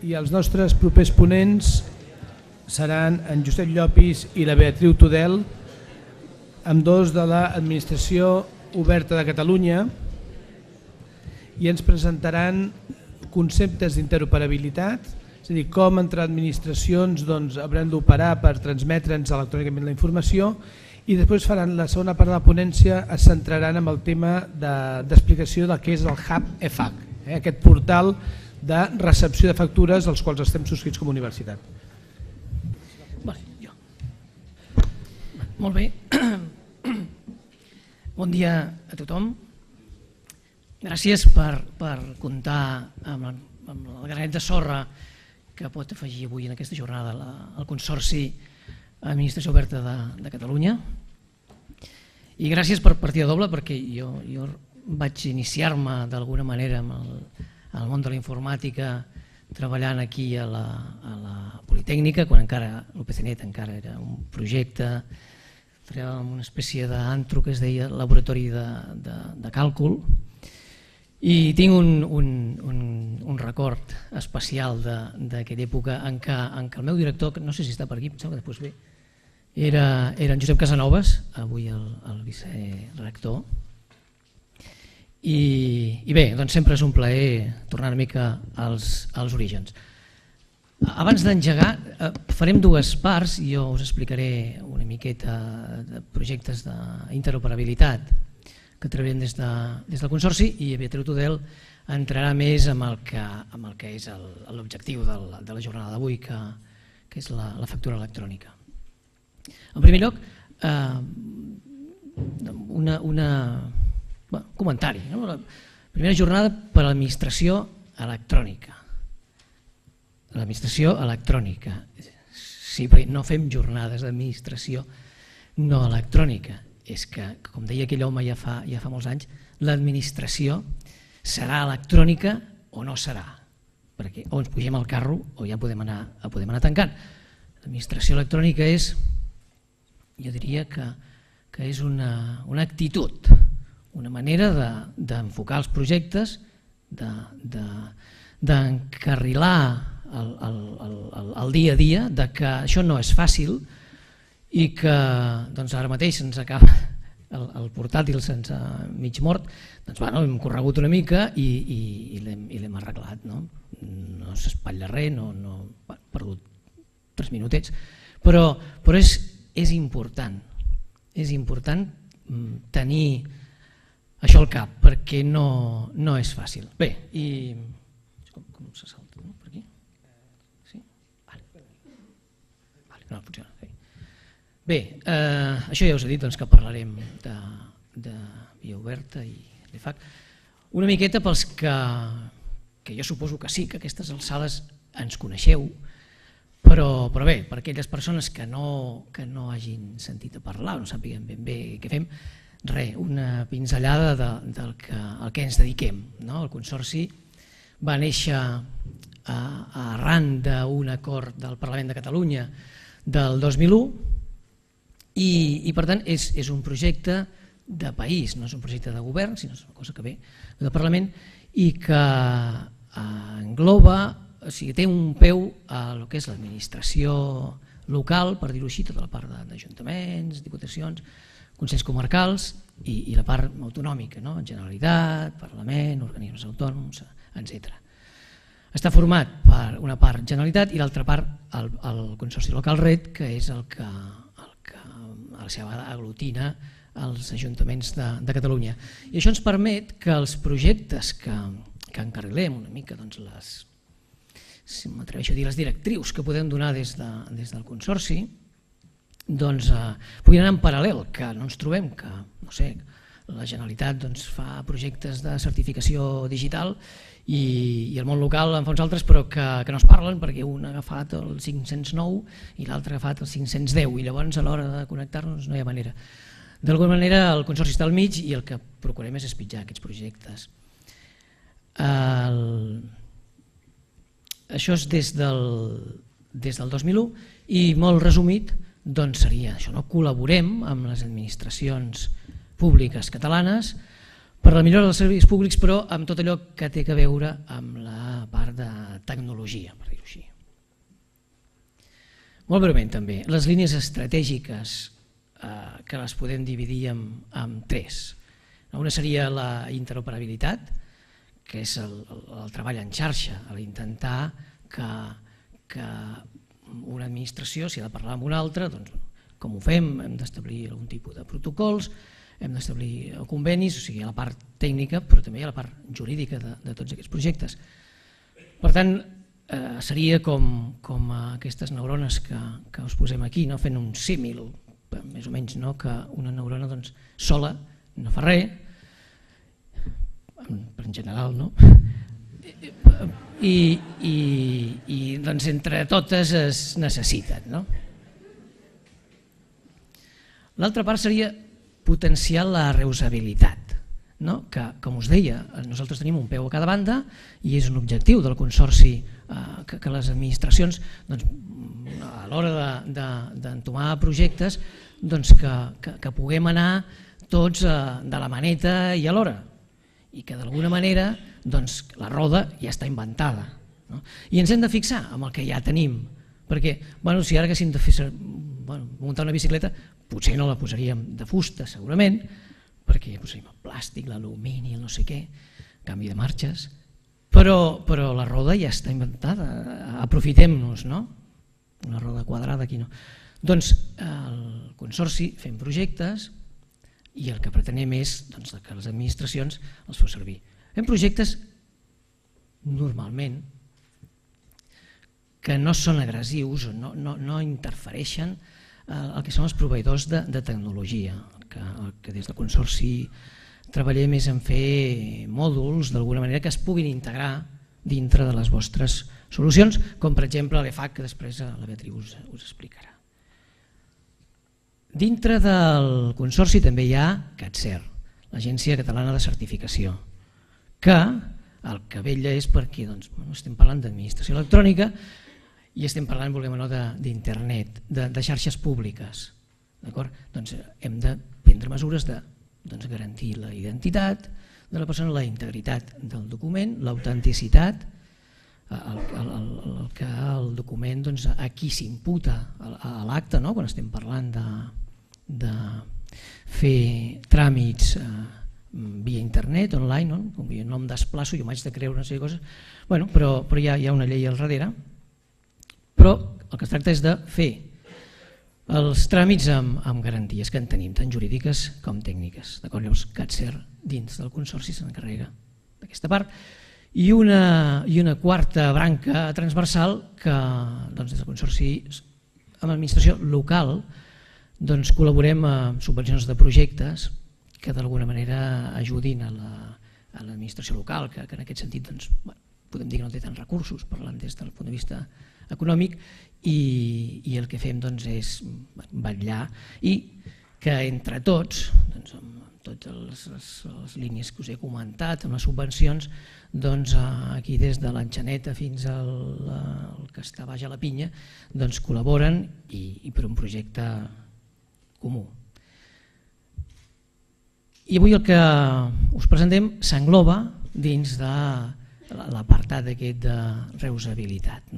i els nostres propers ponents seran en Josep Llopis i la Beatriu Tudel, ambdós de l'Administració Oberta de Catalunya, i ens presentaran conceptes d'interoperabilitat, és a dir, com entre administracions hauran d'operar per transmetre'ns electrònicament la informació, i després faran la segona part de la ponència, es centraran en el tema d'explicació del que és el Hub EFAC, aquest portal de recepció de factures als quals estem subscrits com a universitat. Molt bé. Bon dia a tothom. Gràcies per comptar amb el granet de sorra que pot afegir avui en aquesta jornada el Consorci Administració Oberta de Catalunya. I gràcies per partida doble, perquè jo vaig iniciar-me d'alguna manera amb el món de la informàtica treballant aquí a la Politècnica, quan encara l'UPCnet encara era un projecte, una espècie d'antro que es deia Laboratori de Càlcul, i tinc un record especial d'aquella època en què el meu director, no sé si està per aquí, pensava que després ve, era en Josep Casanovas, avui el vicerector. I bé, doncs sempre és un plaer tornar una mica als orígens. Abans d'engegar farem dues parts, jo us explicaré una miqueta de projectes d'interoperabilitat que treballem des del Consorci, i Beatriu Tudel entrarà més amb el que és l'objectiu de la jornada d'avui, que és la factura electrònica. En primer lloc, un comentari. La primera jornada per a l'administració electrònica. L'administració electrònica. Sí, perquè no fem jornades d'administració no electrònica. És que, com deia aquell home ja fa molts anys, l'administració serà electrònica o no serà. Perquè o ens pugem al carro o ja podem anar tancant. L'administració electrònica és, jo diria que és una actitud, una manera d'enfocar els projectes, d'encarrilar el dia a dia, que això no és fàcil i que ara mateix se'ns acaba el portàtil sense mig mort, doncs hem corregut una mica i l'hem arreglat. No s'espatlla res, no hem perdut 3 minutets, però és important tenir això al cap, perquè no és fàcil. Bé, i com se salta per aquí? Sí? No funciona. Bé, això ja us he dit que parlarem de via oberta i l'EFAC. Una miqueta pels que jo suposo que sí, que a aquestes alçades ens coneixeu, però bé, per aquelles persones que no hagin sentit a parlar o no sàpiguen ben bé què fem, una pinzellada del que ens dediquem. El Consorci va néixer arran d'un acord del Parlament de Catalunya del 2001 i per tant és un projecte de país, no és un projecte de govern, sinó és una cosa que ve del Parlament i que engloba, o sigui, té un peu a el que és l'administració local, per dir-ho així, tota la part d'ajuntaments, diputacions, consells comarcals i la part autonòmica, Generalitat, Parlament, organismes autònoms, etc. Està format per una part Generalitat i l'altra part el Consorci Local Red, que és el que a la seva vegada aglutina els ajuntaments de Catalunya. I això ens permet que els projectes que encarrilem una mica, si m'atreveixo a dir, les directrius que podem donar des del Consorci, puguin anar en paral·lel, que no ens trobem que, no sé, la Generalitat fa projectes de certificació digital i el món local en fa uns altres però que no es parlen perquè un ha agafat el 509 i l'altre ha agafat el 510 i llavors a l'hora de connectar-nos no hi ha manera. D'alguna manera el Consorci està al mig i el que procurem és espitjar aquests projectes. Això és des del 2001 i molt resumit seria això, col·laborem amb les administracions públiques catalanes per la millora dels serveis públics, però amb tot allò que té a veure amb la part de tecnologia, per dir-ho així. Molt breument també, les línies estratègiques que les podem dividir en tres. Una seria la interoperabilitat, que és el treball en xarxa, l'intentar que una administració, si ha de parlar amb una altra, doncs com ho fem? Hem d'establir algun tipus de protocols, hem d'establir convenis, o sigui, hi ha la part tècnica, però també hi ha la part jurídica de tots aquests projectes. Per tant, seria com aquestes neurones que us posem aquí, fent un símil, més o menys, que una neurona sola no fa res, en general, i entre totes es necessiten. L'altra part seria potenciar la reusabilitat, que, com us deia, nosaltres tenim un peu a cada banda i és un objectiu del Consorci que les administracions, a l'hora d'entomar projectes, que puguem anar tots de la maneta i a l'hora, i que d'alguna manera la roda ja està inventada. I ens hem de fixar en el que ja tenim, perquè si ara haguéssim de muntar una bicicleta, potser no la posaríem de fusta segurament, perquè posaríem el plàstic, l'alumini, el no sé què, canvi de marxes, però la roda ja està inventada, aprofitem-nos, una roda quadrada aquí no. Doncs el Consorci fem projectes i el que pretenem és que les administracions els feu servir. Fem projectes normalment que no són agressius, no interfereixen el que són els proveïdors de tecnologia, que des del Consorci treballem és en fer mòduls d'alguna manera que es puguin integrar dintre de les vostres solucions, com per exemple l'EFAC, que després la Beatriu us explicarà. Dintre del Consorci també hi ha CATSER, l'Agència Catalana de Certificació, que el que vetlla és perquè estem parlant d'administració electrònica i estem parlant, volem o no, d'internet, de xarxes públiques. Doncs hem de prendre mesures de garantir la identitat de la persona, la integritat del document, l'autenticitat, que el document a qui s'imputa a l'acte, quan estem parlant de fer tràmits via internet, online, no em desplaço, jo m'haig de creure una sèrie de coses, però hi ha una llei al darrere, però el que es tracta és de fer els tràmits amb garanties que en tenim, tant jurídiques com tècniques. Llavors, CATSER dins del Consorci se n'encarrega d'aquesta part. I una quarta branca transversal que des del Consorci amb l'administració local col·laborem amb subvencions de projectes que d'alguna manera ajudin a l'administració local, que en aquest sentit podem dir que no té tants recursos, parlant des del punt de vista econòmic, i el que fem és vetllar i que entre tots, amb totes les línies que us he comentat, amb les subvencions, aquí des de l'Enxaneta fins al que està baix a la Pinya, col·laboren i per un projecte comú. I avui el que us presentem s'engloba dins de l'apartat aquest de reusabilitat.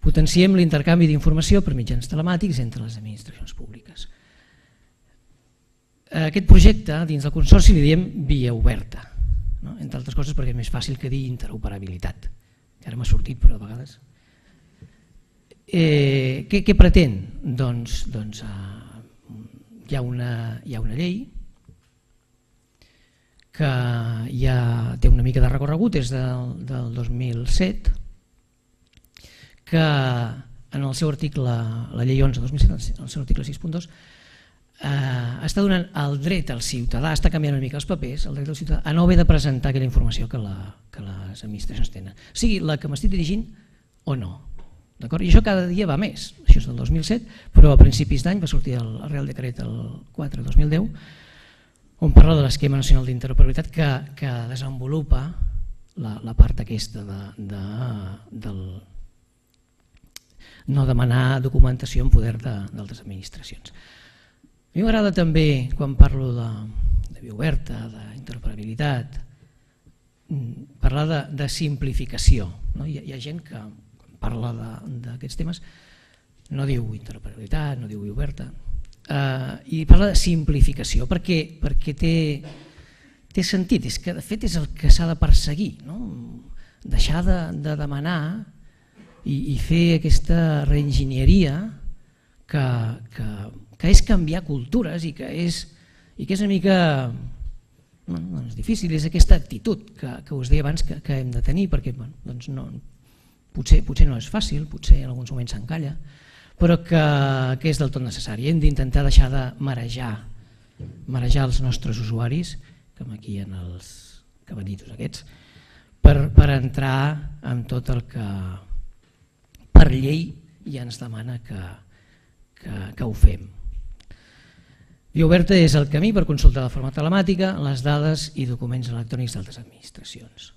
Potenciem l'intercanvi d'informació per mitjans telemàtics entre les administracions públiques. Aquest projecte dins del Consorci li diem via oberta, entre altres coses perquè és més fàcil que dir interoperabilitat, que ara m'ha sortit però a vegades. Què pretén? Doncs hi ha una llei que ja té una mica de recorregut, és del 2007, que en el seu article, la llei 11-2007, en el seu article 6.2, està donant el dret al ciutadà, està canviant una mica els papers, el dret al ciutadà a no haver de presentar aquella informació que les administracions tenen, sigui la que m'estic dirigint o no. I això cada dia va més, això és del 2007, però a principis d'any va sortir el Real Decret el 4/2010, on parla de l'esquema nacional d'interoperabilitat que desenvolupa la part aquesta del no demanar documentació en poder d'altres administracions. A mi m'agrada també, quan parlo de via oberta, d'interoperabilitat, parlar de simplificació. Hi ha gent que parla d'aquests temes, no diu interoperabilitat, no diu via oberta, i parla de simplificació perquè té sentit, és que de fet és el que s'ha de perseguir, deixar de demanar i fer aquesta reenginyeria que és canviar cultures i que és una mica difícil, és aquesta actitud que us deia abans que hem de tenir, perquè potser no és fàcil, potser en alguns moments s'encalla, però que és del tot necessari. Hem d'intentar deixar de marejar els nostres usuaris, com aquí en els cabanitos aquests, per entrar en tot el que per llei ja ens demana que ho fem. Via oberta és el camí per consultar de forma telemàtica les dades i documents electrònics d'altres administracions.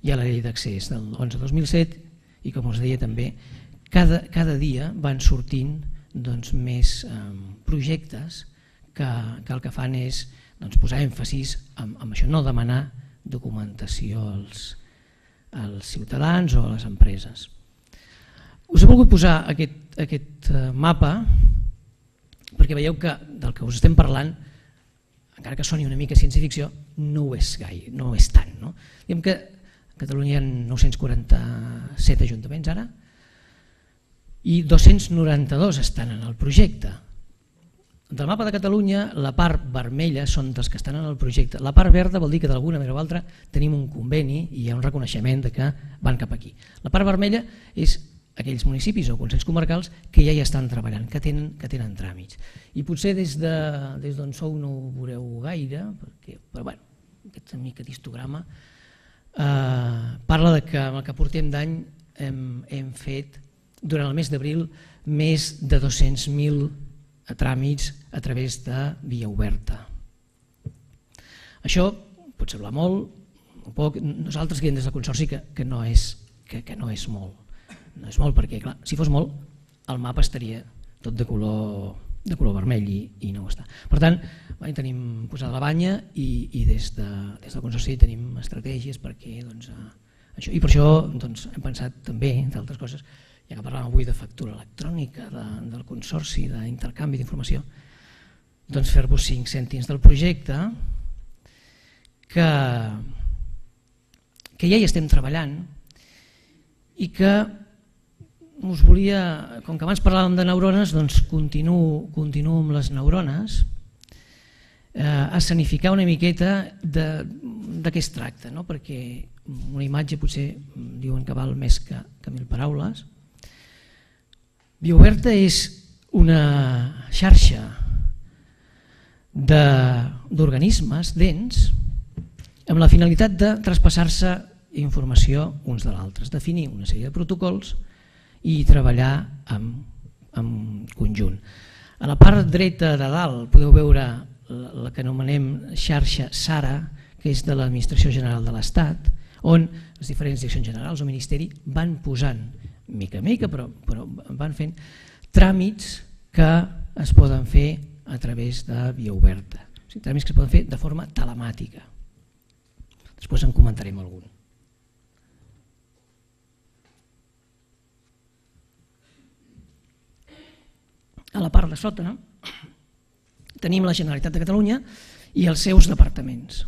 Hi ha la llei d'accés del 11-2007 i, com us deia també, cada dia van sortint més projectes que el que fan és posar èmfasis en això, no demanar documentació als ciutadans o a les empreses. Us he volgut posar aquest mapa perquè veieu que del que us estem parlant, encara que soni una mica ciència-ficció, no ho és gaire, no ho és tant. Diguem que a Catalunya hi ha 947 ajuntaments ara i 292 estan en el projecte. Del mapa de Catalunya, la part vermella són dels que estan en el projecte. La part verda vol dir que d'alguna manera o altra tenim un conveni i hi ha un reconeixement de que van cap aquí. La part vermella és aquells municipis o consells comarcals que ja hi estan treballant, que tenen tràmits. I potser des d'on sou no ho veureu gaire, però bueno, aquesta mica d'histograma parla que amb el que portem d'any hem fet durant el mes d'abril més de 200.000 tràmits a través de via oberta. Això pot semblar molt o poc. Nosaltres creiem des del Consorci que no és molt. No és molt perquè, clar, si fos molt, el mapa estaria tot de color vermell i no ho està. Per tant, tenim posada la banya i des del Consorci tenim estratègies perquè això, i per això hem pensat també, entre altres coses, ja que parlàvem avui de factura electrònica del Consorci, d'intercanvi d'informació, fer-vos 5 cèntims del projecte que ja hi estem treballant i que us volia, com que abans parlàvem de neurones, continuo amb les neurones, escenificar una miqueta de què es tracta, perquè una imatge potser diuen que val més que 1.000 paraules. Via oberta és una xarxa d'organismes dents amb la finalitat de traspassar-se informació uns de l'altre, definir una sèrie de protocols i treballar en conjunt. A la part dreta de dalt podeu veure la que anomenem xarxa SARA, que és de l'Administració General de l'Estat, on les diferents direccions generals o ministeri van posant, mica a mica, però van fent tràmits que es poden fer a través de via oberta. O sigui, tràmits que es poden fer de forma telemàtica. Després en comentarem algun. A la part de sota tenim la Generalitat de Catalunya i els seus departaments.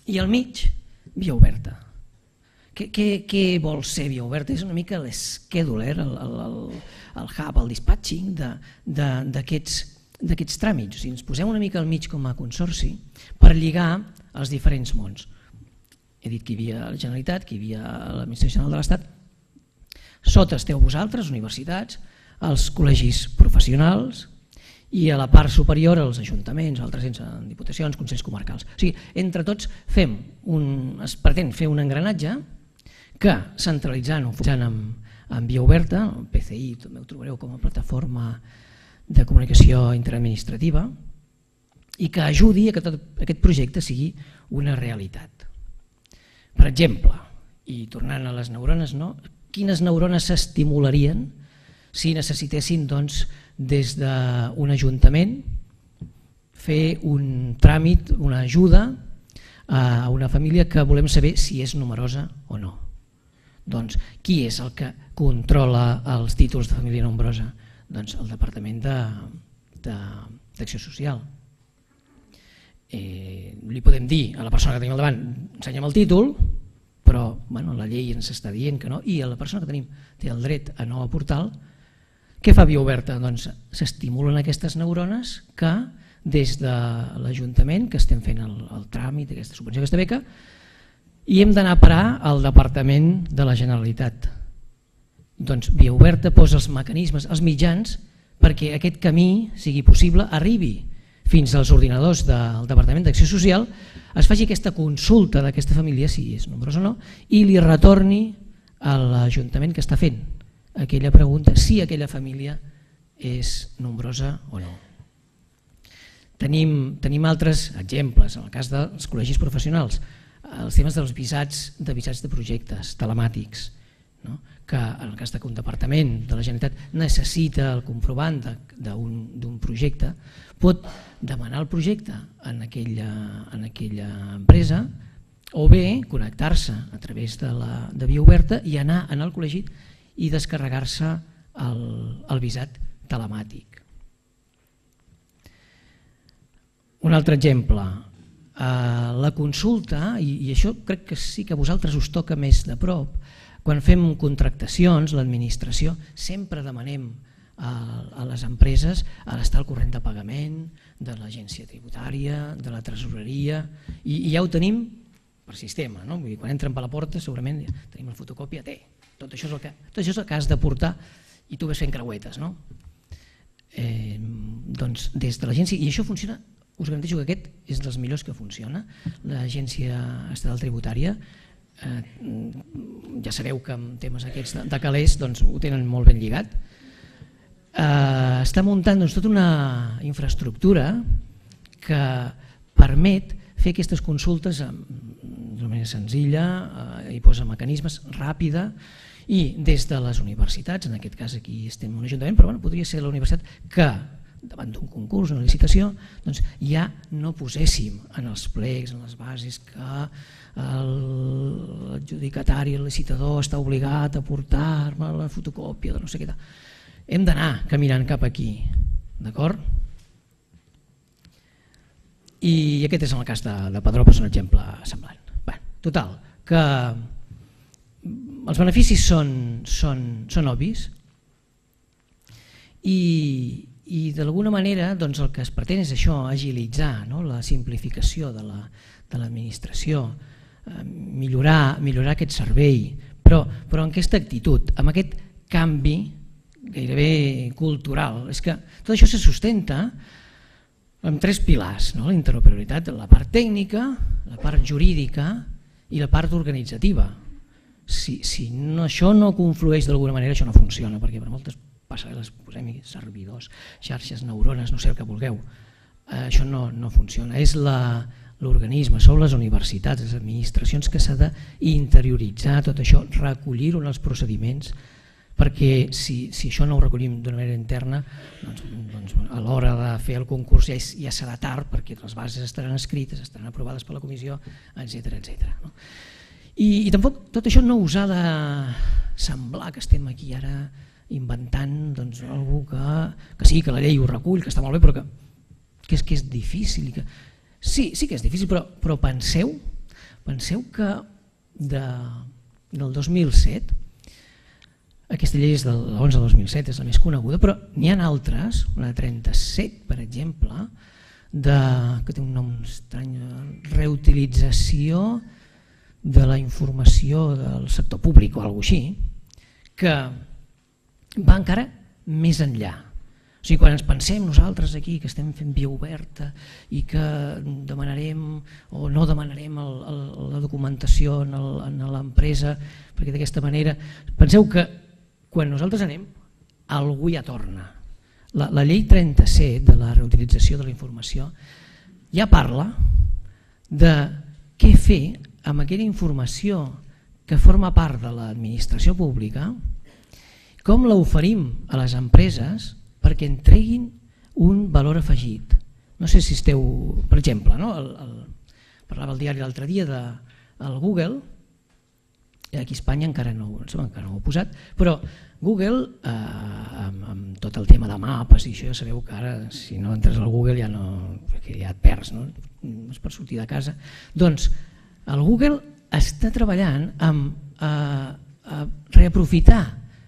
I al mig, via oberta. Què vol ser via oberta? És una mica l'escheduler, el hub, el dispatching d'aquests tràmits. O sigui, ens posem una mica al mig com a consorci per lligar els diferents mons. He dit que hi havia la Generalitat, que hi havia l'Administració General de l'Estat. Sota esteu vosaltres, universitats, els col·legis professionals i a la part superior els ajuntaments, altres ens, diputacions, consells comarcals. O sigui, entre tots es pretén fer un engranatge que centralitzant o focalitzant en via oberta, el PCI també ho trobareu com a plataforma de comunicació interadministrativa, i que ajudi a que tot aquest projecte sigui una realitat. Per exemple, i tornant a les neurones, quines neurones s'estimularien si necessitessin des d'un ajuntament fer un tràmit, una ajuda a una família que volem saber si és numerosa o no. Doncs qui és el que controla els títols de família nombrosa? Doncs el Departament d'Acció Social. Li podem dir a la persona que tenim al davant, ensenya'm el títol, però la llei ens està dient que no, i la persona que tenim té el dret a no aportar-lo. Què fa Via Oberta? Doncs s'estimulen aquestes neurones que des de l'Ajuntament, que estem fent el tràmit d'aquesta subvenció, aquesta beca, i hem d'anar a parar al Departament de la Generalitat. Doncs Via Oberta posa els mecanismes, els mitjans, perquè aquest camí sigui possible, arribi fins als ordinadors del Departament d'Acció Social, es faci aquesta consulta d'aquesta família, si és nombrosa o no, i li retorni a l'Ajuntament que està fent aquella pregunta si aquella família és nombrosa o no. Tenim altres exemples, en el cas dels col·legis professionals, els temes dels visats de projectes telemàtics, que en el cas que un departament de la Generalitat necessita el comprovant d'un projecte, pot demanar el projecte en aquella empresa o bé connectar-se a través de Via Oberta i anar al col·legi i descarregar-se el visat telemàtic. Un altre exemple, la consulta, i això crec que sí que a vosaltres us toca més de prop, quan fem contractacions, l'administració, sempre demanem a les empreses l'estar al corrent de pagament, de l'agència tributària, de la tresoreria, i ja ho tenim per sistema. Quan entren per la porta segurament tenim la fotocòpia, tot això és el que has de portar i tu ves fent creuetes. Doncs des de l'agència, i això funciona, us garanteixo que aquest és dels millors que funciona, l'Agència Estatal Tributària, ja sabeu que amb temes aquests de calés ho tenen molt ben lligat, està muntant tota una infraestructura que permet fer aquestes consultes d'una manera senzilla, hi posa mecanismes, ràpida, i des de les universitats, en aquest cas aquí estem en un ajuntament, però podria ser la universitat que davant d'un concurs, una licitació, ja no poséssim en els plecs, en les bases, que l'adjudicatari, el licitador està obligat a portar-me la fotocòpia de no sé què. Hem d'anar caminant cap aquí, d'acord? I aquest és el cas de Padró, és un exemple semblant. Total, que els beneficis són obvis i d'alguna manera el que es pretén és això, agilitzar la simplificació de l'administració, millorar aquest servei, però amb aquesta actitud, amb aquest canvi gairebé cultural. És que tot això se sustenta amb tres pilars, la interoperabilitat, la part tècnica, la part jurídica i la part organitzativa. Si això no conflueix d'alguna manera, això no funciona, perquè per moltes passarel·les posem-hi servidors, xarxes, neurones, no sé el que vulgueu, això no funciona. És l'organisme, són les universitats, les administracions que s'ha d'interioritzar tot això, recollir-ho en els procediments, perquè si això no ho recollim d'una manera interna, a l'hora de fer el concurs ja serà tard, perquè les bases estaran escrites, estaran aprovades per la comissió, etc. I tampoc tot això no us ha de semblar que estem aquí ara inventant algú que sí, que la llei ho recull, que està molt bé, però que és difícil. Sí que és difícil, però penseu que del 2007, aquesta llei és de l'11 del 2007, és la més coneguda, però n'hi ha altres, una de 37, per exemple, que té un nom estrany, reutilització de la informació del sector públic o alguna cosa així, que va encara més enllà. O sigui, quan ens pensem nosaltres aquí que estem fent Via Oberta i que demanarem o no demanarem la documentació en l'empresa, perquè d'aquesta manera, penseu que quan nosaltres anem, algú ja torna. La llei 37 de la reutilització de la informació ja parla de què fer amb aquella informació que forma part de l'administració pública, com l'oferim a les empreses perquè en treguin un valor afegit, no sé si esteu, per exemple, parlava el diari l'altre dia del Google, aquí a Espanya encara no ho he posat, però Google, amb tot el tema de mapes i això, ja sabeu que ara si no entres al Google ja et perds, no és per sortir de casa. Doncs el Google està treballant amb reaprofitar,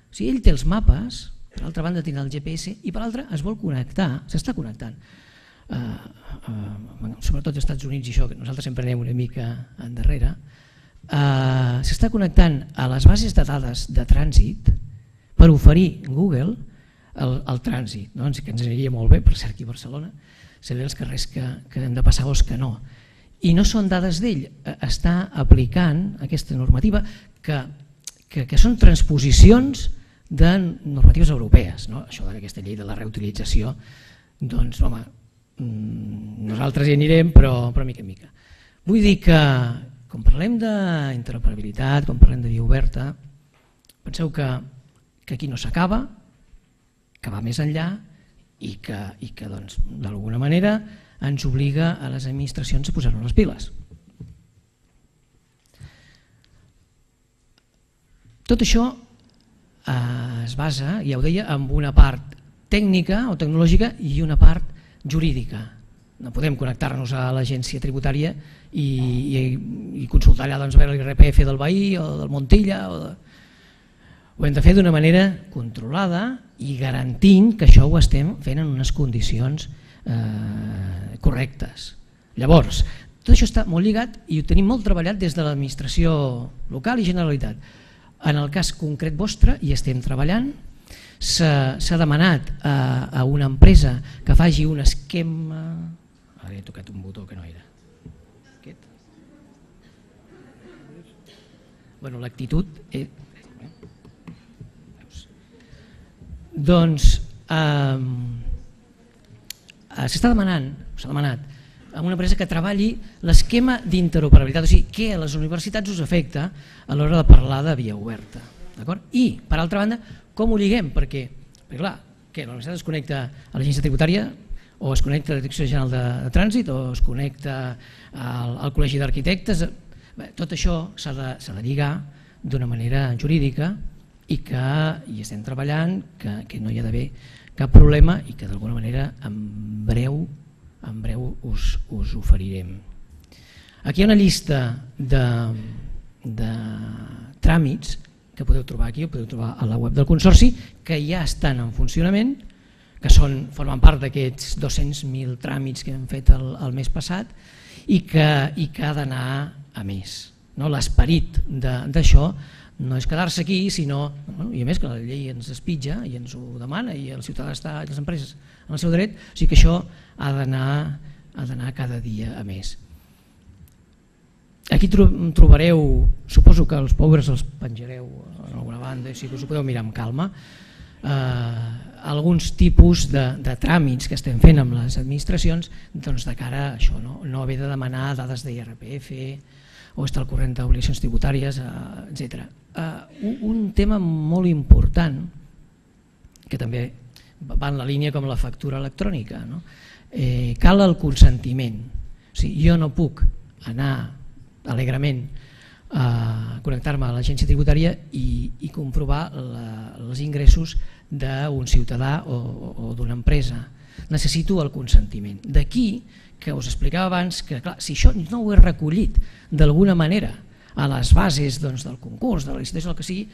o sigui, ell té els mapes, per l'altra banda té el GPS i per l'altra es vol connectar, s'està connectant, sobretot als Estats Units i això, que nosaltres sempre anem una mica endarrere, s'està connectant a les bases de dades de trànsit per oferir Google el trànsit, que ens aniria molt bé, per cert, aquí a Barcelona, saber els carrers que hem de passar o els que no. I no són dades d'ell, està aplicant aquesta normativa que són transposicions de normatives europees. Això d'aquesta llei de la reutilització, doncs, home, nosaltres hi anirem, però mica en mica. Vull dir que, quan parlem d'interoperabilitat, quan parlem de via oberta, penseu que aquí no s'acaba, que va més enllà i que d'alguna manera ens obliga a les administracions a posar-nos les piles. Tot això es basa, ja ho deia, en una part tècnica o tecnològica i una part jurídica. No podem connectar-nos a l'agència tributària i consultar allà a veure l'IRPF del veí o del Montilla. Ho hem de fer d'una manera controlada i garantint que això ho estem fent en unes condicions correctes. Llavors, tot això està molt lligat i ho tenim molt treballat des de l'administració local i Generalitat. En el cas concret vostre hi estem treballant, s'ha demanat a una empresa que faci un esquema... Ara he tocat un botó que no era. Aquest. Bueno, l'actitud... Doncs s'ha demanat a una empresa que treballi l'esquema d'interoperabilitat, o sigui, què a les universitats us afecta a l'hora de parlar de via oberta. I, per altra banda, com ho lliguem? Perquè clar, la universitat es connecta a l'agència tributària o es connecta a la Direcció General de Trànsit o es connecta al Col·legi d'Arquitectes. Tot això s'ha de lligar d'una manera jurídica i que hi estem treballant, que no hi ha d'haver cap problema i que d'alguna manera en breu us oferirem. Aquí hi ha una llista de tràmits que podeu trobar aquí, o podeu trobar a la web del Consorci, que ja estan en funcionament, que formen part d'aquests 200.000 tràmits que hem fet el mes passat i que ha d'anar a més. L'esperit d'això no és quedar-se aquí, sinó, i a més que la llei ens espitja i ens ho demana i el ciutadà està, les empreses, en el seu dret, o sigui que això ha d'anar cada dia a més. Aquí trobareu, suposo que els pobres els penjareu en alguna banda, si us ho podeu mirar amb calma, alguns tipus de tràmits que estem fent amb les administracions de cara a això, no haver de demanar dades d'IRPF o estar al corrent d'obligacions tributàries, etc. Un tema molt important, que també va en la línia com la factura electrònica, cal el consentiment. O sigui, jo no puc anar alegrement a connectar-me a l'agència tributària i comprovar els ingressos d'un ciutadà o d'una empresa. Necessito el consentiment. D'aquí que us explicava abans que clar, si això no ho he recollit d'alguna manera a les bases del concurs, de la licitació, el que sigui,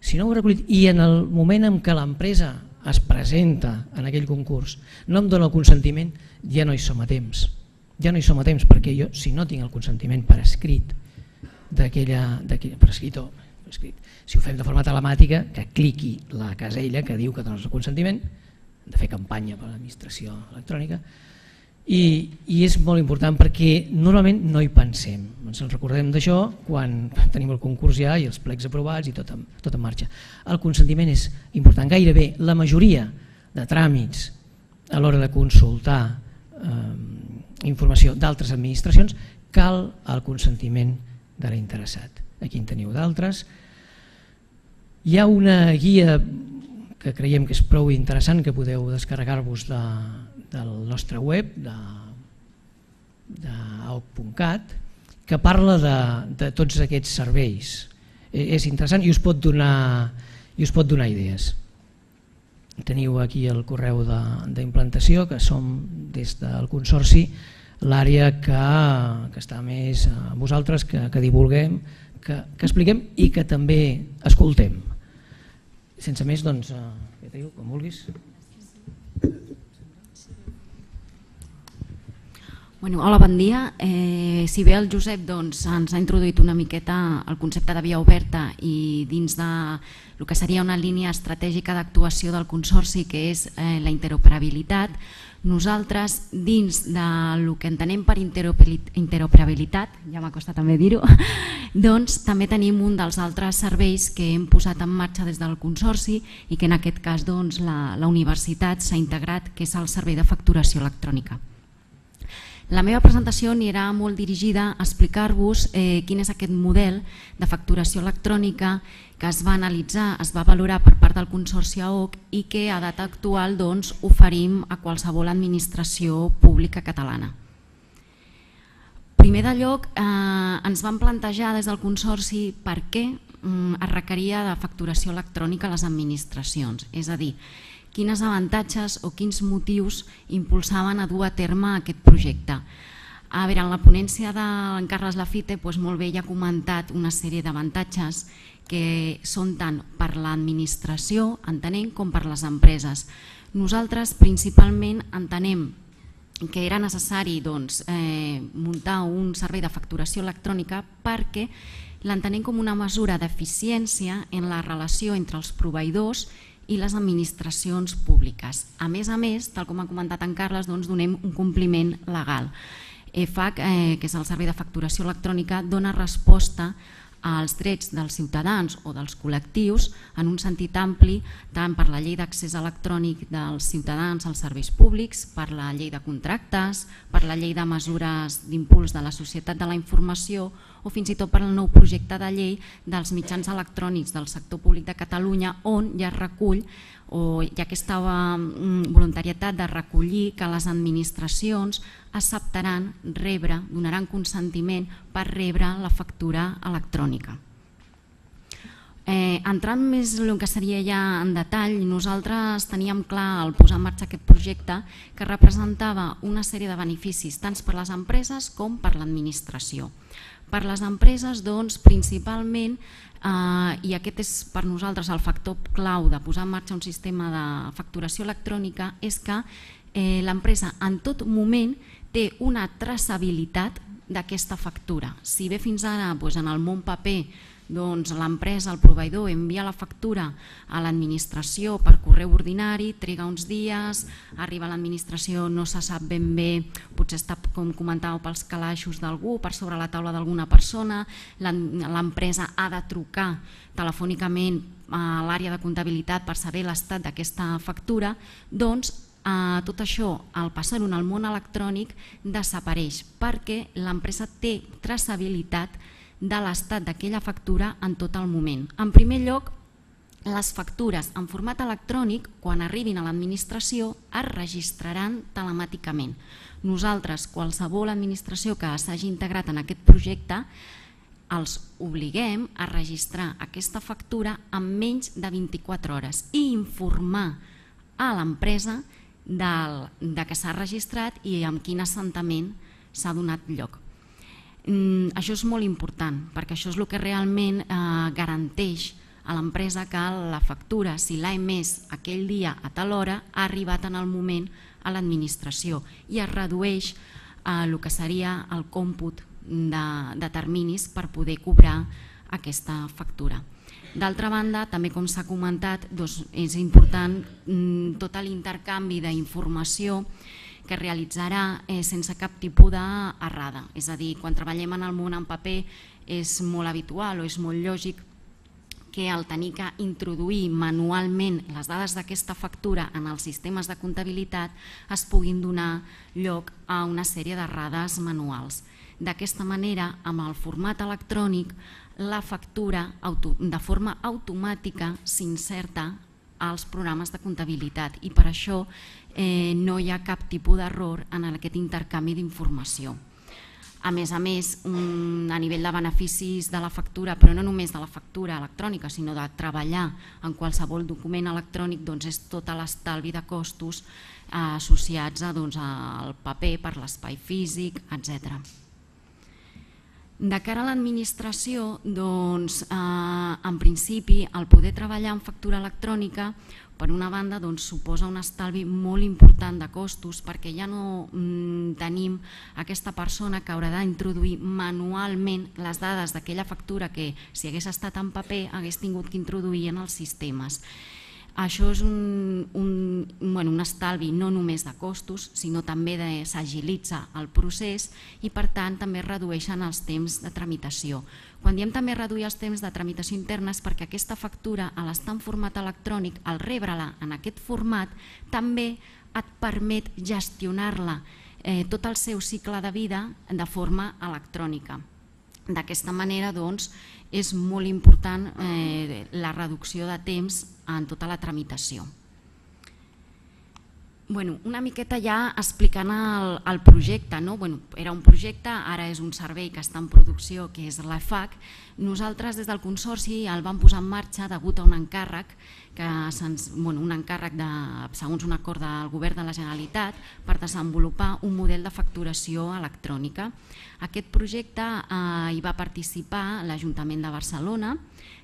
si no ho he recollit i en el moment en què l'empresa es presenta en aquell concurs no em dona el consentiment, ja no hi som a temps. Ja no hi som a temps perquè jo, si no tinc el consentiment per escrit, si ho fem de forma telemàtica, que cliqui la casella que diu que dones el consentiment, hem de fer campanya per a l'administració electrònica, i és molt important perquè normalment no hi pensem, ens en recordem d'això quan tenim el concurs ja i els plecs aprovats i tot en marxa. El consentiment és important, gairebé la majoria de tràmits a l'hora de consultar informació d'altres administracions cal el consentiment de l'interessat. Aquí en teniu d'altres. Hi ha una guia que creiem que és prou interessant, que podeu descarregar-vos del nostre web, d'AOC.cat, que parla de tots aquests serveis. És interessant i us pot donar idees. Teniu aquí el correu d'implantació, que som des del Consorci l'àrea que està més a vosaltres, que divulguem, que expliquem i que també escoltem. Sense més, doncs, com vulguis. Hola, bon dia. Si bé el Josep ens ha introduït una miqueta el concepte de via oberta i dins del que seria una línia estratègica d'actuació del Consorci, que és la interoperabilitat, nosaltres dins del que entenem per interoperabilitat, ja m'acosta també dir-ho, doncs també tenim un dels altres serveis que hem posat en marxa des del Consorci i que en aquest cas la universitat s'ha integrat, que és el servei de facturació electrònica. La meva presentació anirà molt dirigida a explicar-vos quin és aquest model de facturació electrònica que es va analitzar, es va valorar per part del Consorci AOC i que a data actual oferim a qualsevol administració pública catalana. Primer de lloc, ens vam plantejar des del Consorci per què es requeria de facturació electrònica a les administracions, és a dir, quins avantatges o quins motius impulsaven a dur a terme aquest projecte. A veure, en la ponència d'en Carles Lafite molt bé ja ha comentat una sèrie d'avantatges que són tant per l'administració, entenem, com per les empreses. Nosaltres principalment entenem que era necessari muntar un servei de facturació electrònica perquè l'entenem com una mesura d'eficiència en la relació entre els proveïdors i les administracions públiques. A més, tal com ha comentat en Carles, donem un compliment legal. EFAC, que és el servei de facturació electrònica, dona resposta als drets dels ciutadans o dels col·lectius en un sentit ampli, tant per la llei d'accés electrònic dels ciutadans als serveis públics, per la llei de contractes, per la llei de mesures d'impuls de la societat de la informació o fins i tot per el nou projecte de llei dels mitjans electrònics del sector públic de Catalunya, on ja es recull o hi ha aquesta voluntarietat de recollir que les administracions acceptaran rebre, donaran consentiment per rebre la factura electrònica. Entrant més en el que seria ja en detall, nosaltres teníem clar al posar en marxa aquest projecte que representava una sèrie de beneficis tant per les empreses com per l'administració. Per les empreses, principalment, i aquest és per nosaltres el factor clau de posar en marxa un sistema de facturació electrònica, és que l'empresa en tot moment té una traçabilitat d'aquesta factura. Si bé fins ara en el món paper l'empresa, el proveïdor, envia la factura a l'administració per correu ordinari, triga uns dies, arriba a l'administració, no se sap ben bé, potser està, com comentàveu, pels calaixos d'algú, per sobre la taula d'alguna persona, l'empresa ha de trucar telefònicament a l'àrea de comptabilitat per saber l'estat d'aquesta factura, doncs tot això, al passar-ho al món electrònic, desapareix perquè l'empresa té traçabilitat de l'estat d'aquella factura en tot el moment. En primer lloc, les factures en format electrònic, quan arribin a l'administració, es registraran telemàticament. Nosaltres, qualsevol administració que s'hagi integrat en aquest projecte, els obliguem a registrar aquesta factura en menys de 24 hores i informar a l'empresa de que s'ha registrat i en quin assentament s'ha donat lloc. Això és molt important perquè això és el que realment garanteix a l'empresa que la factura, si l'ha emès aquell dia a tal hora, ha arribat en el moment a l'administració i es redueix el que seria el còmput de terminis per poder cobrar aquesta factura. D'altra banda, també com s'ha comentat, és important tot l'intercanvi d'informació que realitzarà sense cap tipus d'errada. És a dir, quan treballem en el món en paper és molt habitual o és molt lògic que al tenir que introduir manualment les dades d'aquesta factura en els sistemes de comptabilitat es puguin donar lloc a una sèrie d'errades manuals. D'aquesta manera, amb el format electrònic, la factura de forma automàtica s'inserta als programes de comptabilitat i per això no hi ha cap tipus d'error en aquest intercanvi d'informació. A més, a nivell de beneficis de la factura, però no només de la factura electrònica, sinó de treballar en qualsevol document electrònic, és tot l'estalvi de costos associats al paper per l'espai físic, etc. De cara a l'administració, en principi, el poder treballar en factura electrònica, per una banda, suposa un estalvi molt important de costos perquè ja no tenim aquesta persona que haurà d'introduir manualment les dades d'aquella factura que, si hagués estat en paper, hagués tingut que introduir en els sistemes. Això és un estalvi no només de costos, sinó també s'agilitza el procés i per tant també es redueixen els temps de tramitació. Quan diem també reduir els temps de tramitació interna és perquè aquesta factura, a l'estar en format electrònic, al rebre-la en aquest format, també et permet gestionar-la tot el seu cicle de vida de forma electrònica. D'aquesta manera, és molt important la reducció de temps en tota la tramitació. Una miqueta ja explicant el projecte. Era un projecte, ara és un servei que està en producció, que és l'EFAC. Nosaltres des del Consorci el vam posar en marxa degut a un encàrrec, segons un acord del Govern de la Generalitat, per desenvolupar un model de facturació electrònica. Aquest projecte hi va participar l'Ajuntament de Barcelona,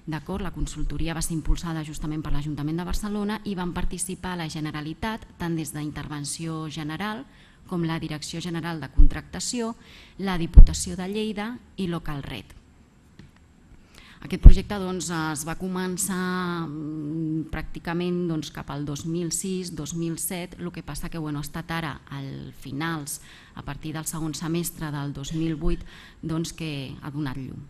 la consultoria va ser impulsada justament per l'Ajuntament de Barcelona i van participar la Generalitat, tant des d'Intervenció General com la Direcció General de Contractació, la Diputació de Lleida i Localred. Aquest projecte es va començar pràcticament cap al 2006-2007, el que passa que ha estat ara, al finals, a partir del segon semestre del 2008, que ha donat llum.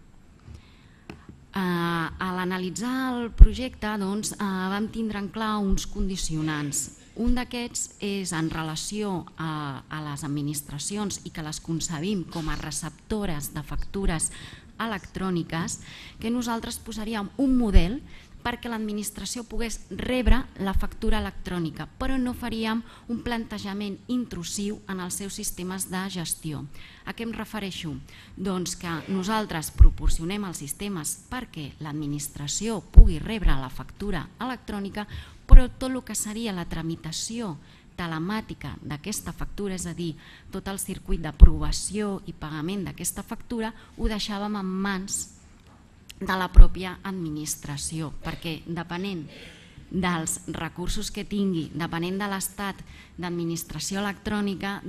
A l'analitzar el projecte vam tindre en clar uns condicionants. Un d'aquests és en relació a les administracions i que les concebim com a receptores de factures electròniques, que nosaltres posaríem un model perquè l'administració pogués rebre la factura electrònica, però no faríem un plantejament intrusiu en els seus sistemes de gestió. A què em refereixo? Doncs que nosaltres proporcionem els sistemes perquè l'administració pugui rebre la factura electrònica, però tot el que seria la tramitació telemàtica d'aquesta factura, és a dir, tot el circuit d'aprovació i pagament d'aquesta factura, ho deixàvem en mans de la pròpia administració, perquè depenent dels recursos que tingui, depenent de l'estat d'administració electrònica,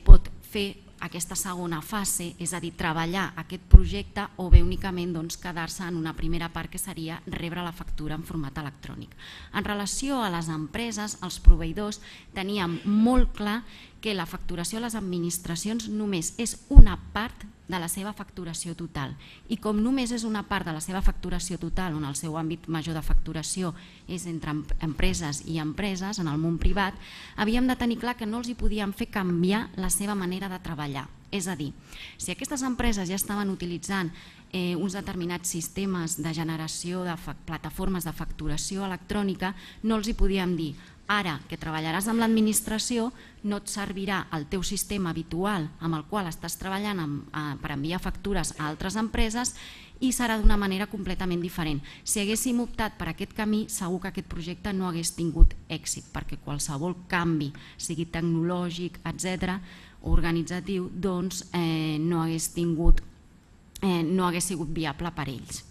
pot fer aquesta segona fase, és a dir, treballar aquest projecte o bé únicament quedar-se en una primera part que seria rebre la factura en format electrònic. En relació a les empreses, els proveïdors teníem molt clar que la facturació a les administracions només és una part de la seva facturació total. I com només és una part de la seva facturació total, on el seu àmbit major de facturació és entre empreses i empreses, en el món privat, havíem de tenir clar que no els hi podíem fer canviar la seva manera de treballar. És a dir, si aquestes empreses ja estaven utilitzant uns determinats sistemes de generació de plataformes de facturació electrònica, no els hi podíem dir: ara que treballaràs amb l'administració no et servirà el teu sistema habitual amb el qual estàs treballant per enviar factures a altres empreses i serà d'una manera completament diferent. Si haguéssim optat per aquest camí, segur que aquest projecte no hagués tingut èxit, perquè qualsevol canvi, sigui tecnològic, etc., organitzatiu, no hagués sigut viable per ells.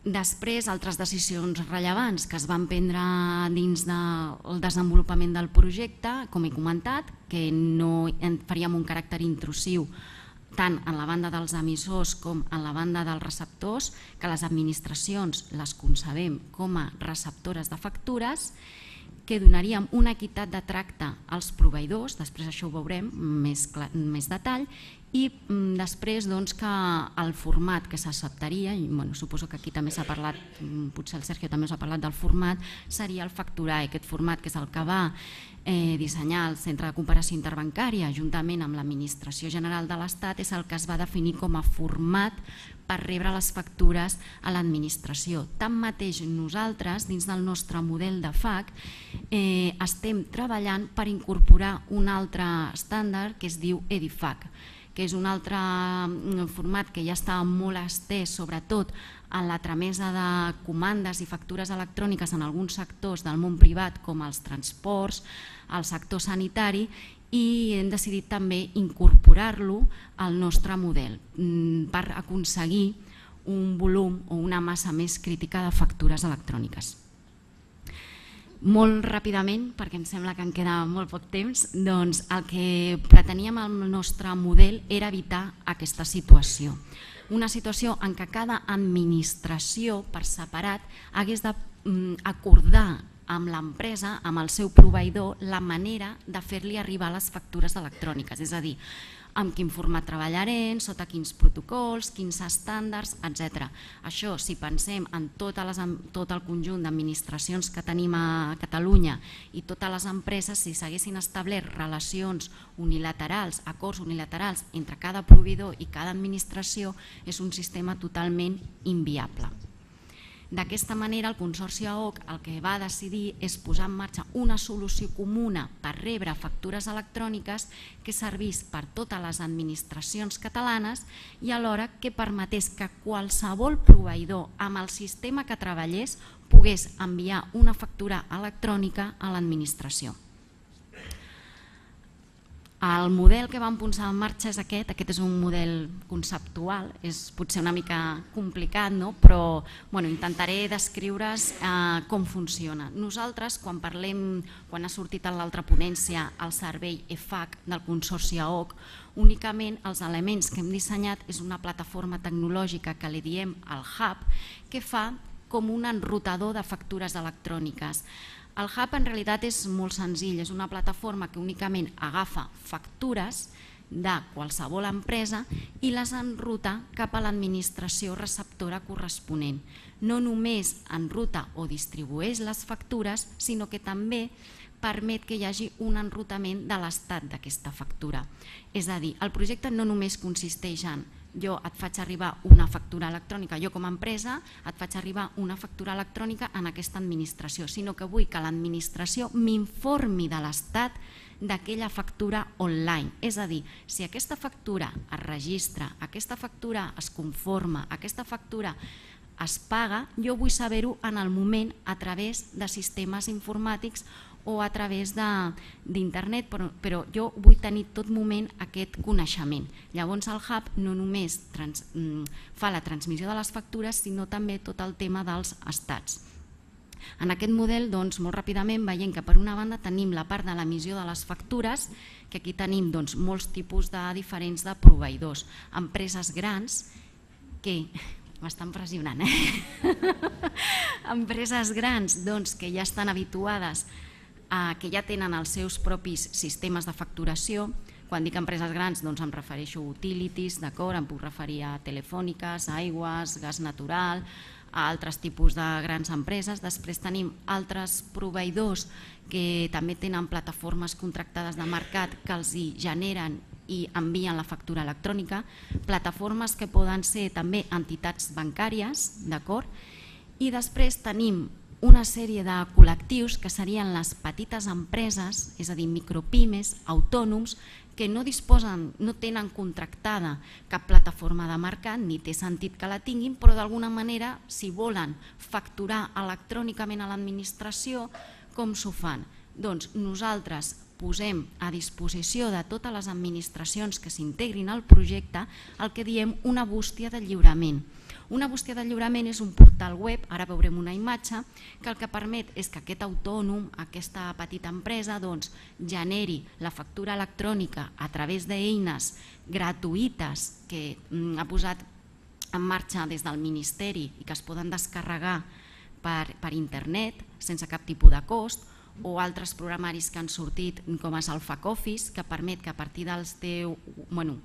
Després, altres decisions rellevants que es van prendre dins del desenvolupament del projecte, com he comentat, que no faríem un caràcter intrusiu tant en la banda dels emissors com en la banda dels receptors, que les administracions les concebem com a receptores de factures, que donaríem una equitat de tracte als proveïdors, després això ho veurem més detall, i després que el format que s'acceptaria, i suposo que aquí també s'ha parlat, potser el Sergio també us ha parlat del format, seria el facturar. Aquest format, que és el que va dissenyar el Centre de Comparació Interbancària juntament amb l'Administració General de l'Estat, és el que es va definir com a format per rebre les factures a l'administració. Tanmateix, nosaltres, dins del nostre model de FAC, estem treballant per incorporar un altre estàndard que es diu EDIFAC, que és un altre format que ja està molt estès, sobretot en la tramesa de comandes i factures electròniques en alguns sectors del món privat, com els transports, el sector sanitari, i hem decidit també incorporar-lo al nostre model per aconseguir un volum o una massa més crítica de factures electròniques. Molt ràpidament, perquè em sembla que em queda molt poc temps, doncs el que preteníem amb el nostre model era evitar aquesta situació. Una situació en què cada administració per separat hagués d'acordar amb l'empresa, amb el seu proveïdor, la manera de fer-li arribar les factures electròniques, és a dir, amb quin format treballarem, sota quins protocols, quins estàndards, etc. Això, si pensem en tot el conjunt d'administracions que tenim a Catalunya i totes les empreses, si s'haguessin establert relacions unilaterals, acords unilaterals entre cada proveïdor i cada administració, és un sistema totalment inviable. D'aquesta manera, el Consorci AOC el que va decidir és posar en marxa una solució comuna per rebre factures electròniques que servís per totes les administracions catalanes i alhora que permetés que qualsevol proveïdor amb el sistema que treballés pogués enviar una factura electrònica a l'administració. El model que vam posar en marxa és aquest és un model conceptual, és potser una mica complicat, però intentaré descriure's com funciona. Nosaltres, quan ha sortit a l'altra ponència el servei EFAC del Consorci AOC, únicament els elements que hem dissenyat és una plataforma tecnològica que li diem el Hub, que fa com un enrutador de factures electròniques. El Hub en realitat és molt senzill, és una plataforma que únicament agafa factures de qualsevol empresa i les enruta cap a l'administració receptora corresponent. No només enruta o distribueix les factures, sinó que també permet que hi hagi un enrutament de l'estat d'aquesta factura. És a dir, el projecte no només consisteix en jo et faig arribar una factura electrònica, jo com a empresa et faig arribar una factura electrònica en aquesta administració, sinó que vull que l'administració m'informi de l'estat d'aquella factura online. És a dir, si aquesta factura es registra, aquesta factura es conforma, aquesta factura es paga, jo vull saber-ho en el moment a través de sistemes informàtics o a través d'internet, però jo vull tenir tot moment aquest coneixement. Llavors el Hub no només fa la transmissió de les factures, sinó també tot el tema dels estats. En aquest model, molt ràpidament, veiem que per una banda tenim la part de l'emissió de les factures, que aquí tenim molts tipus diferents de proveïdors. Empreses grans que... M'estan pressionant, Empreses grans que ja estan habituades, que ja tenen els seus propis sistemes de facturació. Quan dic empreses grans em refereixo a utilities, em puc referir a telefòniques, aigües, gas natural, a altres tipus de grans empreses. Després tenim altres proveïdors que també tenen plataformes contractades de mercat que els hi generen i envien la factura electrònica, plataformes que poden ser també entitats bancàries, d'acord? I després tenim una sèrie de col·lectius que serien les petites empreses, és a dir, micropimes, autònoms, que no disposen, no tenen contractada cap plataforma de mercat, ni té sentit que la tinguin, però d'alguna manera, si volen facturar electrònicament a l'administració, com s'ho fan? Doncs nosaltres posem a disposició de totes les administracions que s'integrin al projecte el que diem una bústia de lliurament. Una bústia de lliurament és un portal web, ara veurem una imatge, que el que permet és que aquest autònom, aquesta petita empresa, generi la factura electrònica a través d'eines gratuïtes que ha posat en marxa des del Ministeri i que es poden descarregar per internet sense cap tipus de cost, o altres programaris que han sortit, com és el FAC Office, que permet que a partir dels teus,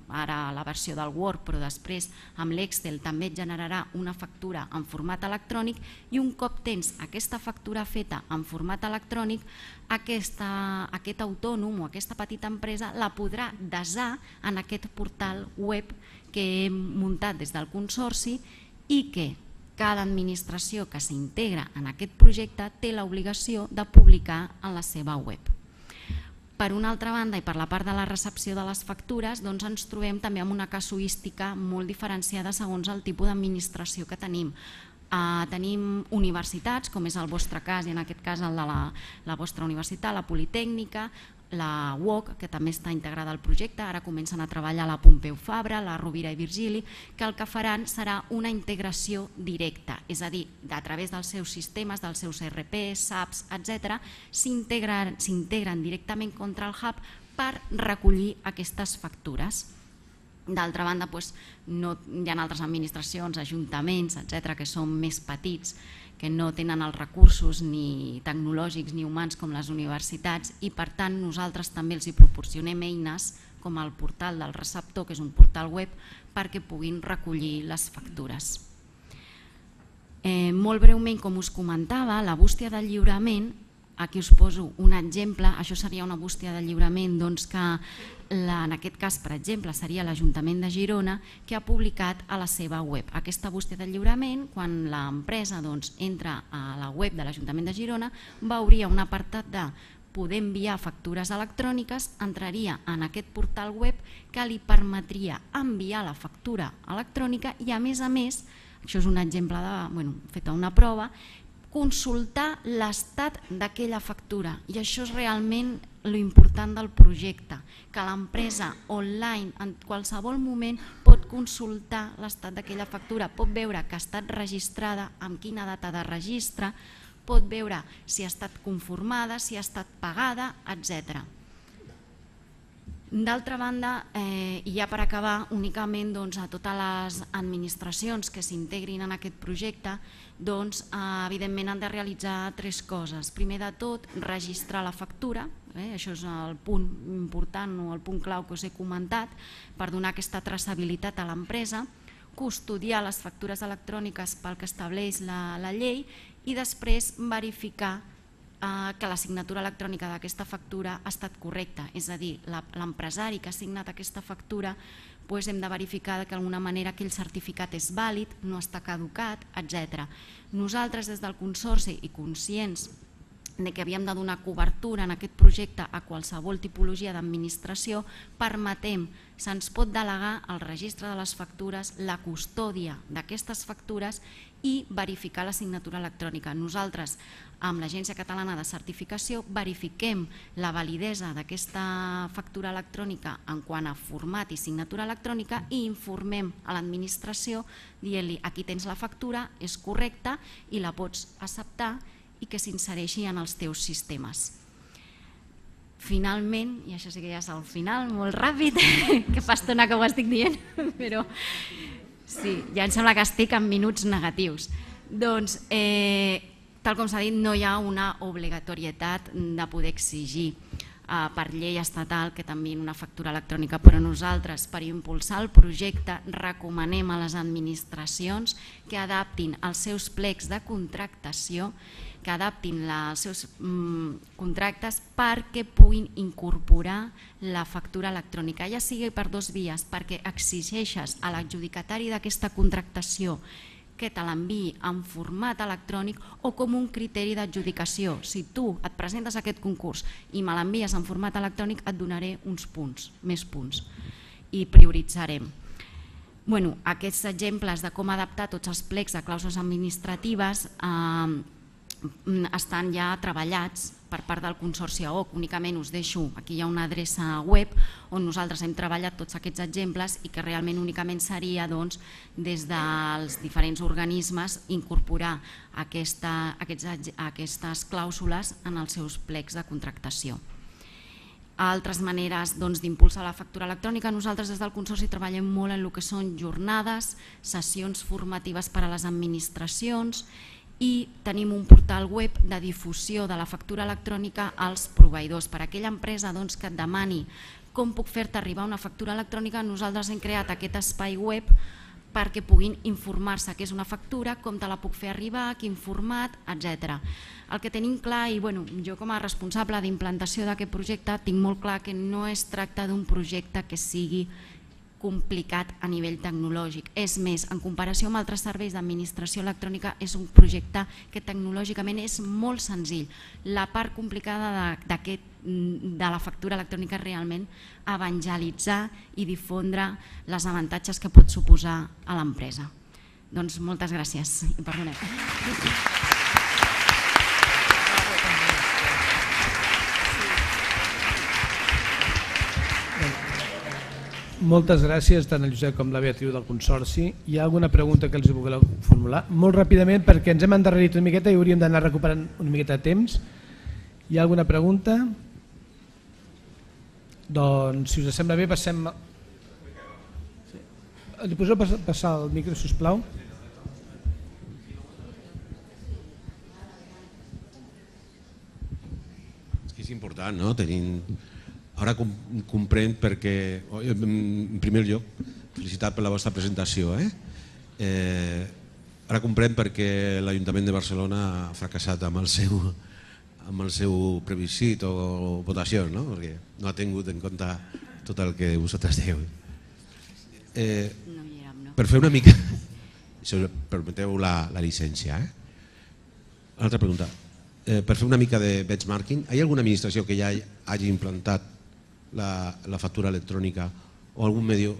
ara la versió del Word, però després amb l'Excel també et generarà una factura en format electrònic, i un cop tens aquesta factura feta en format electrònic, aquest autònom o aquesta petita empresa la podrà desar en aquest portal web que hem muntat des del Consorci i que cada administració que s'integra en aquest projecte té l'obligació de publicar en la seva web. Per una altra banda, i per la part de la recepció de les factures, ens trobem també amb una casuística molt diferenciada segons el tipus d'administració que tenim. Tenim universitats, com és el vostre cas, i en aquest cas el de la vostra universitat, la Politècnica, la UOC, que també està integrada al projecte, ara comencen a treballar la Pompeu Fabra, la Rovira i Virgili, que el que faran serà una integració directa, és a dir, a través dels seus sistemes, dels seus ERP, SAPs, etc., s'integren directament contra el Hub per recollir aquestes factures. D'altra banda, hi ha altres administracions, ajuntaments, etc., que són més petits, que no tenen els recursos ni tecnològics ni humans com les universitats, i per tant nosaltres també els proporcionem eines com el portal del receptor, que és un portal web, perquè puguin recollir les factures. Molt breument, com us comentava, la bústia de lliurament, aquí us poso un exemple, això seria una bústia de lliurament que en aquest cas, per exemple, seria l'Ajuntament de Girona, que ha publicat a la seva web. Aquesta bústia de lliurament, quan l'empresa entra a la web de l'Ajuntament de Girona, veuria un apartat de poder enviar factures electròniques, entraria en aquest portal web que li permetria enviar la factura electrònica i, a més, això és un exemple fet a una prova, consultar l'estat d'aquella factura, i això és realment l'important del projecte, que l'empresa online en qualsevol moment pot consultar l'estat d'aquella factura, pot veure que ha estat registrada, amb quina data de registre, pot veure si ha estat conformada, si ha estat pagada, etc. D'altra banda, i ja per acabar, únicament a totes les administracions que s'integrin en aquest projecte, evidentment han de realitzar 3 coses. Primer de tot, registrar la factura, això és el punt important o el punt clau que us he comentat, per donar aquesta traçabilitat a l'empresa, custodiar les factures electròniques pel que estableix la llei i després verificar que la signatura electrònica d'aquesta factura ha estat correcta, és a dir, l'empresari que ha signat aquesta factura hem de verificar que d'alguna manera aquell certificat és vàlid, no està caducat, etc. Nosaltres des del Consorci, i conscients que havíem de donar cobertura en aquest projecte a qualsevol tipologia d'administració, permetem, se'ns pot delegar el registre de les factures, la custòdia d'aquestes factures i verificar la signatura electrònica. Nosaltres, amb l'Agència Catalana de Certificació, verifiquem la validesa d'aquesta factura electrònica en quant a format i signatura electrònica i informem a l'administració dient-li: aquí tens la factura, és correcta i la pots acceptar i que s'insereixi en els teus sistemes. Finalment, i això sí que ja és el final, molt ràpid, que fa estona que ho estic dient, però sí, ja em sembla que estic en minuts negatius. Doncs, tal com s'ha dit, no hi ha una obligatorietat de poder exigir per llei estatal que t'enviïn una factura electrònica, però nosaltres, per impulsar el projecte, recomanem a les administracions que adaptin els seus plecs de contractació, que adaptin els seus contractes perquè puguin incorporar la factura electrònica, ja sigui per 2 vies, perquè exigeixes a l'adjudicatari d'aquesta contractació que te l'enviï en format electrònic o com un criteri d'adjudicació. Si tu et presentes a aquest concurs i me l'envies en format electrònic, et donaré uns punts, més punts, i prioritzarem. Aquests exemples de com adaptar tots els plecs de clàusules administratives estan ja treballats per part del Consorci AOC. Únicament us deixo, aquí hi ha una adreça web on nosaltres hem treballat tots aquests exemples i que realment únicament seria des dels diferents organismes incorporar aquestes clàusules en els seus plecs de contractació. Altres maneres d'impulsar la factura electrònica: nosaltres des del Consorci treballem molt en el que són jornades, sessions formatives per a les administracions i tenim un portal web de difusió de la factura electrònica als proveïdors. Per a aquella empresa que et demani com puc fer-te arribar una factura electrònica, nosaltres hem creat aquest espai web perquè puguin informar-se què és una factura, com te la puc fer arribar, quin format, etc. El que tenim clar, i jo com a responsable d'implantació d'aquest projecte tinc molt clar que no es tracta d'un projecte que sigui complicat a nivell tecnològic. És més, en comparació amb altres serveis d'administració electrònica, és un projecte que tecnològicament és molt senzill. La part complicada de la factura electrònica és realment evangelitzar i difondre els avantatges que pot suposar a l'empresa. Doncs moltes gràcies i perdoneu. Moltes gràcies tant al Josep com a la Beatriu del Consorci. Hi ha alguna pregunta que els voleu formular? Molt ràpidament, perquè ens hem endarrerit una miqueta i hauríem d'anar recuperant una miqueta de temps. Hi ha alguna pregunta? Doncs, si us sembla bé, passem... Li podeu passar el micro, sisplau? És important, no? Ara comprenc perquè, en primer lloc, felicitat per la vostra presentació. Ara comprenc perquè l'Ajuntament de Barcelona ha fracassat amb el seu plebiscit o votació, perquè no ha tingut en compte tot el que vosaltres dieu. Per fer una mica, si permeteu la llicència. Una altra pregunta. Per fer una mica de benchmarking, hi ha alguna administració que ja hagi implantat la factura electrònica o algun medi,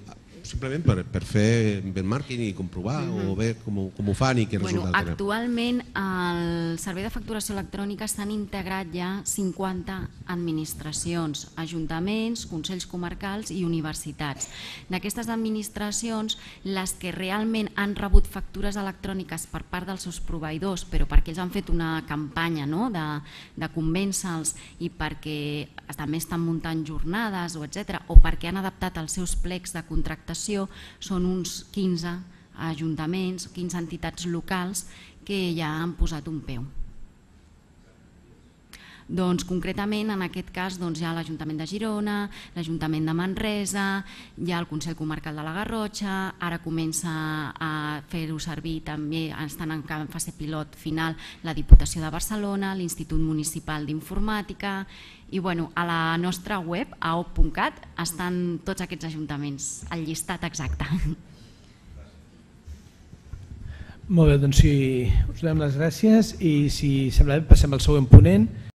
simplement per fer benchmarking i comprovar o veure com ho fan i què resultat tenen? Actualment al servei de facturació electrònica s'han integrat ja 50 administracions, ajuntaments, consells comarcals i universitats. D'aquestes administracions, les que realment han rebut factures electròniques per part dels seus proveïdors, però perquè ells han fet una campanya de convèncer-los i perquè també estan muntant jornades o perquè han adaptat els seus plecs de contractació, són uns 15 ajuntaments, 15 entitats locals que ja han posat un peu. Doncs concretament en aquest cas hi ha l'Ajuntament de Girona, l'Ajuntament de Manresa, hi ha el Consell Comarcal de la Garrotxa, ara comença a fer-ho servir també, estan en fase pilot final, la Diputació de Barcelona, l'Institut Municipal d'Informàtica i a la nostra web, aop.cat, estan tots aquests ajuntaments, el llistat exacte. Molt bé, doncs si us donem les gràcies i si sembla bé passem al següent ponent.